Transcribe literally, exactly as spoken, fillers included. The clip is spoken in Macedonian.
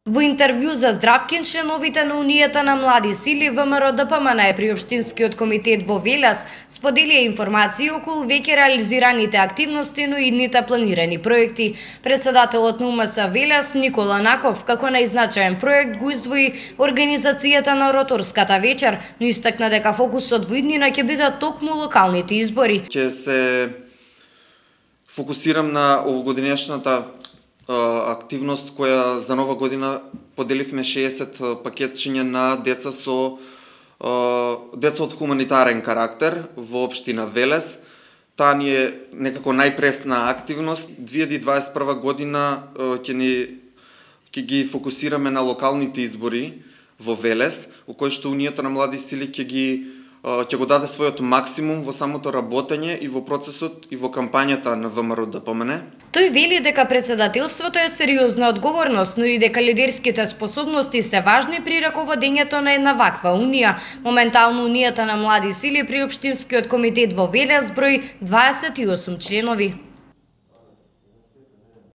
Во интервју за Здравkin, членовите на Унијата на млади сили ВМРО-ДПМН при Општинскиот комитет во Велес споделија информации околу веќе реализираните активности, но и идните планирани проекти. Председателот на УМС Велес Никола Наков, како најзначаен проект, го издвои организацијата на роторската вечер, но истакна дека фокусот во иднина ќе бидат токму локалните избори. Ќе се фокусирам на овогодинешната активност која за нова година поделивме шеесет пакетчиња на деца со деца од хуманитарен карактер во општина Велес. Таа ни е некако најпресна активност. две илјади дваесет и прва година ќе ни ќе ги фокусираме на локалните избори во Велес, во кои што Унијата на млади сили ќе ги ќе го даде својот максимум во самото работење и во процесот и во кампањата на ВМРО-ДПМН. Тој вели дека председателството е сериозна одговорност, но и дека лидерските способности се важни при раководењето на една ваква унија. Моментално Унијата на млади сили при Општинскиот комитет во Велес брои дваесет и осум членови.